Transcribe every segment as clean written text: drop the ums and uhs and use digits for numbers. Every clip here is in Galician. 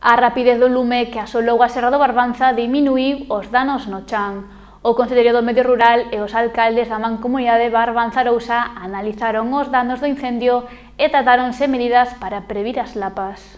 A rapidez do lume que asolou a Serra do Barbanza diminuíu os danos no chan. O Conselleiro do Medio Rural e os alcaldes da Mancomunidade Barbanza-Arousa analizaron os danos do incendio e tratáronse medidas para previr as lapas.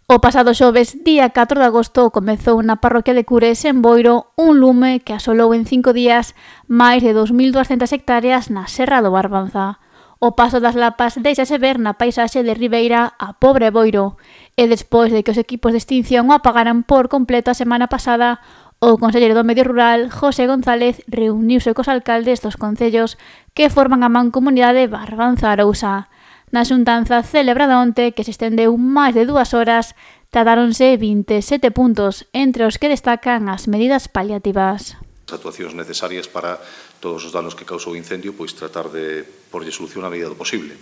O pasado xoves, día 4 de agosto, comezou na parroquia de Cures, en Boiro, un lume que asolou en 5 días máis de 2.200 hectáreas na Serra do Barbanza. O paso das lapas deixase ver na paisaxe de Ribeira a Pobre Boiro, e despois de que os equipos de extinción o apagaran por completo a semana pasada, o Conselleiro do Medio Rural, José González, reuniuse cos alcaldes dos concellos que forman a Mancomunidade Barbanza-Arousa. Na xuntanza celebrada onte, que se estendeu máis de 2 horas, tratáronse 27 puntos, entre os que destacan as medidas paliativas. As actuacións necesarias para todos os danos que causou o incendio, pois tratar de porlle solución a medida do posible.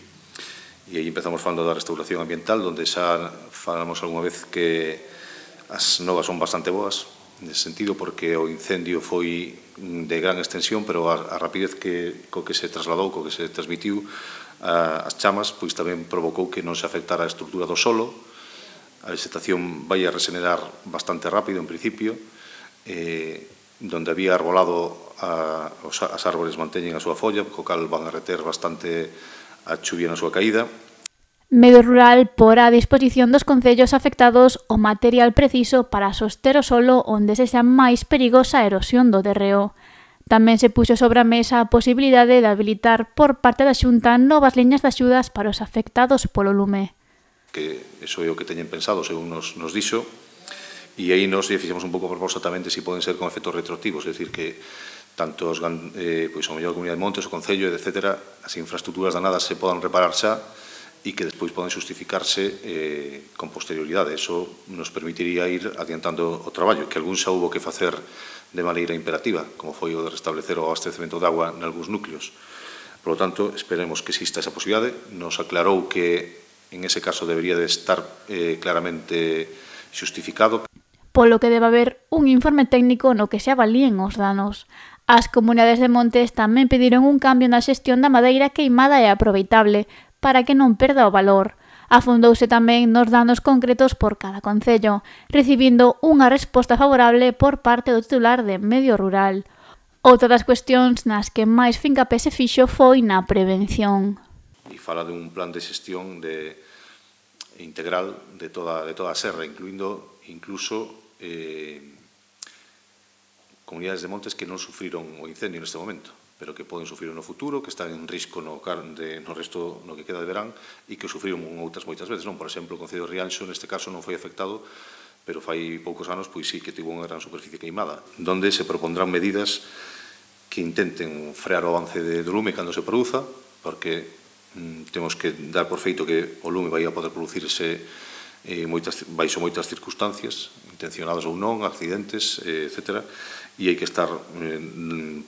E aí empezamos falando da restauración ambiental, onde xa falamos algunha vez que as novas son bastante boas, nese sentido, porque o incendio foi de gran extensión, pero a rapidez co que se trasladou, co que se transmitiu as chamas, pois tamén provocou que non se afectara a estrutura do solo. A vegetación vai a regenerar bastante rápido, en principio, donde había arbolado as árbores manteñen a súa folla, co cal van a reter bastante a chuvia na súa caída. Medio Rural porá a disposición dos concellos afectados o material preciso para soster o solo onde se xa máis perigosa a erosión do terreo. Tamén se puxo sobre a mesa a posibilidade de habilitar por parte da Xunta novas liñas de axudas para os afectados polo lume. Que iso é o que teñen pensado, según nos dixo, e aí nos fixemos un pouco a proposta tamén de se poden ser con efectos retroactivos, é dicir, que tanto pois, a mellor Comunidade de Montes, o Concello, etc., as infraestructuras danadas se podan reparar xa e que despois poden justificarse con posterioridade. Eso nos permitiría ir adiantando o traballo, que algún xa hubo que facer de maneira imperativa, como foi o de restablecer o abastecemento de agua nalgúns núcleos. Por lo tanto, esperemos que exista esa posibilidade. Nos aclarou que en ese caso debería de estar claramente xustificado. Polo que debe haber un informe técnico no que se avalíen os danos. As comunidades de montes tamén pediron un cambio na xestión da madeira queimada e aproveitable para que non perda o valor. Afondouse tamén nos danos concretos por cada concello, recibindo unha resposta favorable por parte do titular de Medio Rural. Outra das cuestións nas que máis fincapé se fixo foi na prevención. E fala de un plan de xestión integral de toda a serra, incluindo incluso comunidades de montes que non sufriron o incendio neste momento, pero que poden sufrir no futuro, que están en risco no resto, no que queda de verán, e que sufriron outras moitas veces. Por exemplo, o Concello de Rianxo, neste caso, non foi afectado, pero fai poucos anos, pois sí que tivo unha gran superficie queimada, donde se propondrán medidas que intenten frear o avance do lume cando se produza, porque temos que dar por feito que o lume vai a poder producirse baixo moitas circunstancias, intencionadas ou non, accidentes, etc., e hai que estar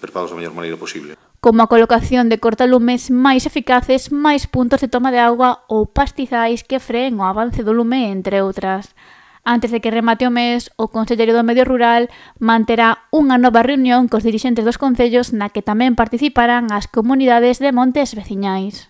preparados da mellor maneira posible. Como a colocación de cortalumes máis eficaces, máis puntos de toma de auga ou pastizais que freen o avance do lume, entre outras. Antes de que remate o mes, o Conselleiro do Medio Rural manterá unha nova reunión cos dirixentes dos concellos na que tamén participarán as comunidades de montes veciñais.